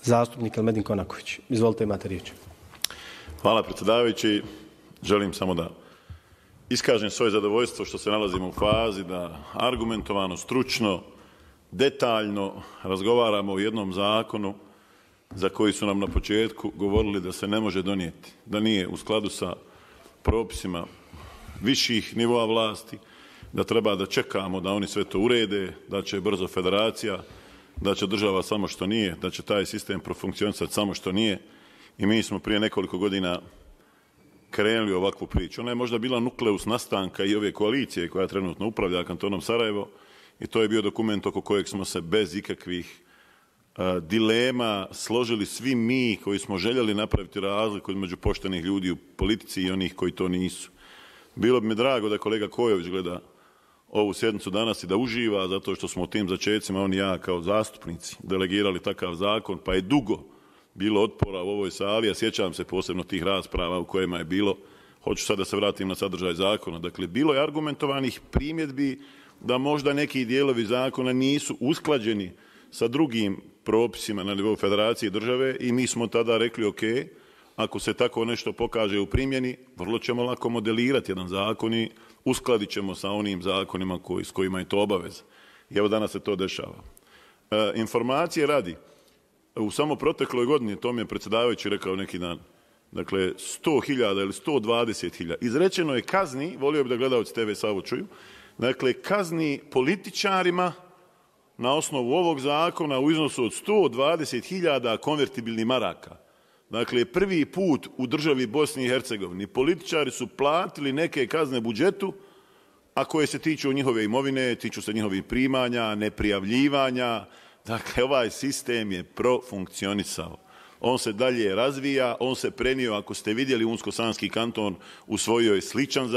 zastupnik Elmedin Konaković. Izvolite, imate riječ. Hvala, predsjedavajući. Želim samo da iskažem svoje zadovoljstvo što se nalazimo u fazi da argumentovano, stručno, detaljno razgovaramo o jednom zakonu za koji su nam na početku govorili da se ne može donijeti, da nije u skladu sa propisima viših nivoa vlasti, da treba da čekamo da oni sve to urede, da će brzo federacija, da će država samo što nije, da će taj sistem profunkcionisati samo što nije. I mi smo prije nekoliko godina krenuli ovakvu priču. Ona je možda bila nukleus nastanka i ove koalicije koja trenutno upravlja kantonom Sarajevo i to je bio dokument oko kojeg smo se bez ikakvih dilema složili svi mi koji smo željeli napraviti razliku između poštenih ljudi u politici i onih koji to nisu. Bilo bi mi drago da kolega Kojović gleda ovu sjednicu danas i da uživa, zato što smo u tim začecima, on i ja kao zastupnici, delegirali takav zakon, pa je dugo bilo otpora u ovoj sali, a sjećam se posebno tih rasprava u kojima je bilo, hoću sad da se vratim na sadržaj zakona, dakle, bilo je argumentovanih primjedbi da možda neki dijelovi zakona nisu usklađeni sa drugim propisima na nivou federacije i države i mi smo tada rekli, ok, ako se tako nešto pokaže u primjeni, vrlo ćemo lako modelirati jedan zakon i uskladit ćemo sa onim zakonima s kojima je to obaveza. I evo danas se to dešava. Informacije radi. U samo protekloj godini, to mi je predsjedavajući rekao neki dan, dakle 100.000 ili 120.000. Izrečeno je kazni, volio bi da gledalci TV Savo čuju, dakle kazni političarima na osnovu ovog zakona u iznosu od 120.000 konvertibilnih maraka. Dakle, prvi put u državi Bosni i Hercegovini političari su platili neke kazne budžetu, a koje se tiču njihove imovine, tiču se njihovih primanja, neprijavljivanja. Dakle, ovaj sistem je profunkcionisao. On se dalje razvija, on se prenio, ako ste vidjeli, Unsko-Sanski kanton usvojio je sličan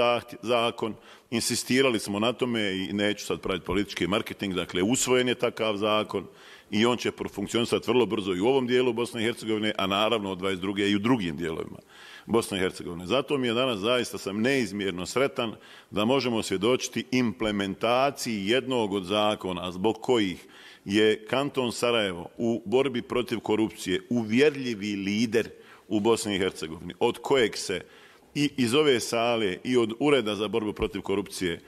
zakon, insistirali smo na tome i neću sad praviti politički marketing, dakle, usvojen je takav zakon i on će profunkcionisati vrlo brzo i u ovom dijelu Bosne i Hercegovine, a naravno od 22. i u drugim dijelovima Bosne i Hercegovine. Zato mi je danas zaista sam neizmjerno sretan da možemo svjedočiti implementaciji jednog od zakona zbog kojih je kanton Sarajevo u borbi protiv korupcije uvjerljivi lider u Bosni i Hercegovini, od kojeg se i iz ove sale i od Ureda za borbu protiv korupcije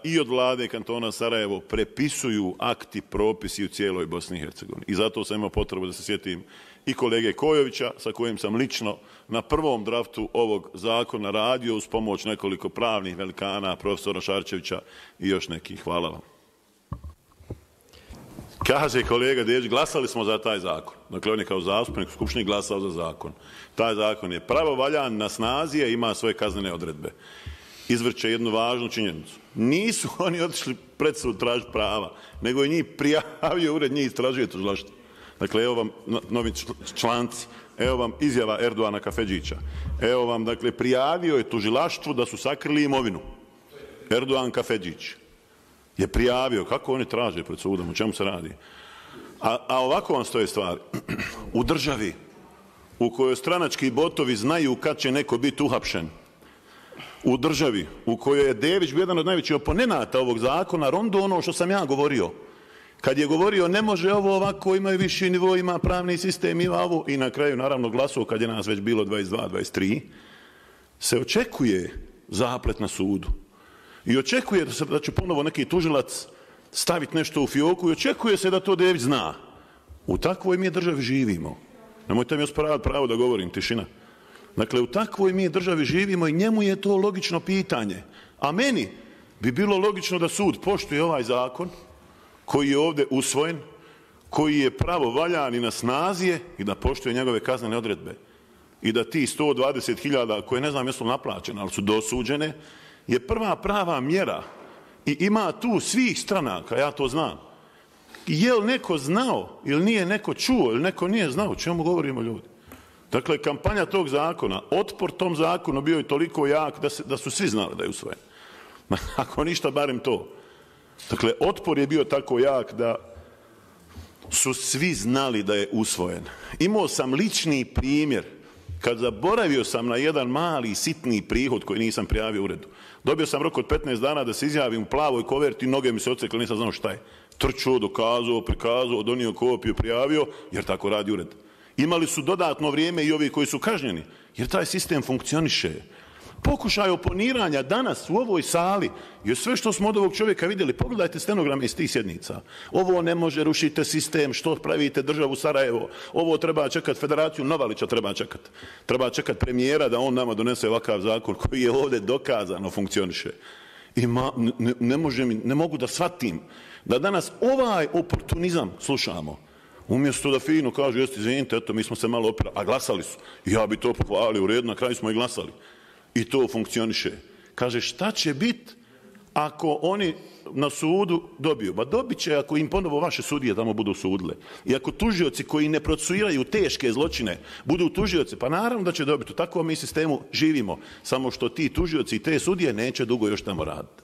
i od vlade kantona Sarajevo prepisuju akti, propisi u cijeloj Bosni i Hercegovini. I zato sam imao potrebu da se sjetim i kolege Kojovića, sa kojim sam lično na prvom draftu ovog zakona radio uz pomoć nekoliko pravnih velikana, profesora Šarčevića i još nekih. Hvala vam. Kaže kolega Dejić, glasali smo za taj zakon. Dakle, on je kao zastupnik u Skupštini glasao za zakon. Taj zakon je pravovaljan, na snazi je, ima svoje kaznene odredbe. Izvrće jednu važnu činjenicu. Nisu oni otišli pred sud tražiti prava, nego je njih prijavio ured, njih istražuje tužilaštvo. Dakle, evo vam novi članci, evo vam izjava Erdoana Kafedžića. Evo vam, dakle, prijavio je tužilaštvu da su sakrili imovinu. Erdoan Kafedžić je prijavio. Kako oni traže pred sudom? O čemu se radi? A ovako vam stoje stvari. U državi u kojoj stranački botovi znaju kad će neko biti uhapšen, u državi u kojoj je Dević bio jedan od najvećih oponenata ovog zakona, rondo ono što sam ja govorio. Kad je govorio ne može ovo ovako, imaju viši nivo, ima pravni sistem, ima ovo, i na kraju naravno glasao kad je nas već bilo 22, 23, se očekuje zaplet na sudu. I očekuje da će ponovo neki tužilac staviti nešto u fioku i očekuje se da to Dević zna. U takvoj mi državi živimo. Nemojte mi osporavati pravo da govorim, tišina. Dakle, u takvoj mi državi živimo i njemu je to logično pitanje. A meni bi bilo logično da sud poštuje ovaj zakon koji je ovdje usvojen, koji je pravovaljan i na snazi je, i da poštuje njegove kaznene odredbe. I da ti 120.000, koje ne znam jesu naplaćene, ali su dosuđene, je prva prava mjera. I ima tu svih stranaka, ja to znam. Je li neko znao, ili nije neko čuo, ili neko nije znao, o čemu govorimo ljudi? Dakle, kampanja tog zakona, otpor tom zakonu bio je toliko jak da su svi znali da je usvojen. Ako ništa, barem to. Dakle, otpor je bio tako jak da su svi znali da je usvojen. Imao sam lični primjer kad zaboravio sam na jedan mali, sitni prihod koji nisam prijavio uredu. Dobio sam rok od 15 dana da se izjavim u plavoj koverti, noge mi se odsekle, nisam znao šta je. trčao, dokazao, prikazao, donio kopiju, prijavio, jer tako radi ured. Imali su dodatno vrijeme i ovi koji su kažnjeni, jer taj sistem funkcioniše. Pokušaj oponiranja danas u ovoj sali, jer sve što smo od ovog čovjeka vidjeli, pogledajte stenograme iz tih sjednica. Ovo ne može, rušite sistem, što pravite državu Sarajevo, ovo treba čekati Federaciju Novalića, treba čekati premijera da on nama donese ovakav zakon koji je ovdje dokazano funkcioniše. I ne mogu da shvatim da danas ovaj oportunizam slušamo. Umjesto da fino kažu, jeste, izvinite, eto, mi smo se malo opirali, a glasali su. Ja bi to pohvalio, u redu, na kraju smo i glasali. I to funkcioniše. Kaže, šta će biti ako oni na sudu dobiju? Ba dobit će ako im ponovo vaše sudije tamo budu sudile. I ako tužioci koji ne procesuiraju teške zločine budu tužioci, pa naravno da će dobiti. U takvom mi sistemu živimo. Samo što ti tužioci i te sudije neće dugo još tamo raditi.